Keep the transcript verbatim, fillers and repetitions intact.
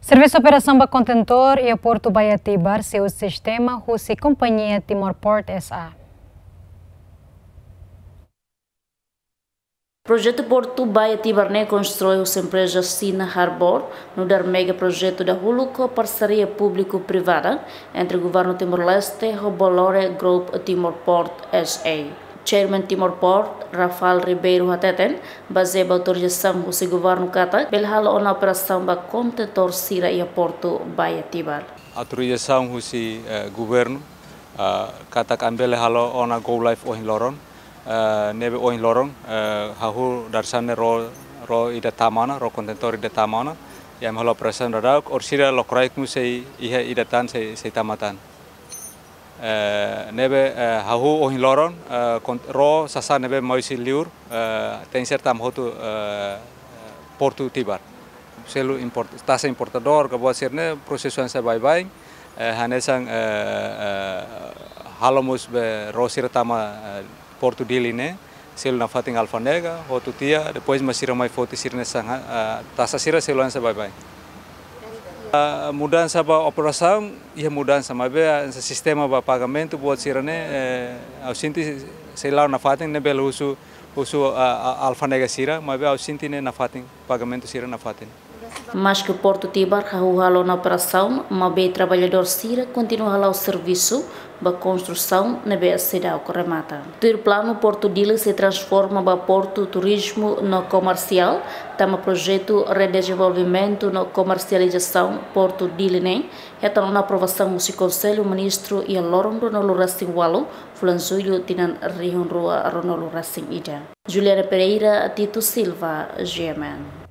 Servisu operasaun ba kontentór iha Portu Baía Tibar sei uza sistema husi kompañia Timor Port S A. Projetu Portu Baía Tibar ne'e konstrui husi empreza Xina Harbor, nu'udar mega projetu dahuluk ho parseria públiku-privada entre Governu Timor-Leste ho Bolloré Group Timor Port S A. Chairman Timor Port, Rafael Ribeiro hateten, bazeia ba autorizasaun husi governu katak bele hala'o ona operasaun ba kontentór sira iha Portu Baía Tibar. Autorizasaun husi, eh, governu, ah, katak ami bele hala'o ona go live ohin loron, eh, ne'ebé ohin loron, eh, hahú dadeer-saan ne'e ró, ró ida tama ona, ró kontentór ida tama ona, i ami hala'o operasaun daudauk, orsida lokraik mós sei iha ida tan sei, sei tama tan. Eh, ne'ebé, eh, hahú ohin loron, eh, kon-, ró sasán ne'ebé mai husi liur, eh, tenke ser tama hotu, eh, Portu Tibar. Selu import-, taxa importadór, ka buat sira-ne'e, prosesu hanesan baibain, eh, hanesan, eh, eh, halo mós be ró sira tama, eh, Portu Dili ne'e, selu nafatin alfándega, hotu tiha, depois mak sira mai foti sira-nia sasán, ah, taxa sira selu hanesan baibain. Ah, mudansa ba operasaun, iha mudansa, maibé, ah, sistema ba pagamentu buat sira-ne'e, eh, ha'u sente sei la'o nafatin, ne'e bele husu, husu, ah, ah, alfándega sira, maibé ha'u sente ne'e nafatin, pagamentu sira nafatin. Maske Portu Tibar hahú hala'o ona operasaun, maibé traballadór sira kontinua hala'o servisu ba konstrusaun ne'ebé seidauk remata. Tuir planu, Portu Dili sei transforma ba portu turizmu no komersiál, tanba projetu redezenvolvimentu no komersializasaun Portu Dili ne'e hetan ona aprovasaun husi Konsellu Ministru iha loron ruanulu-resin-ualu, fulan Jullu, tinan rihun rua ruanulu-resin-ida. Juliana Pereira, Tito Silva, G M N.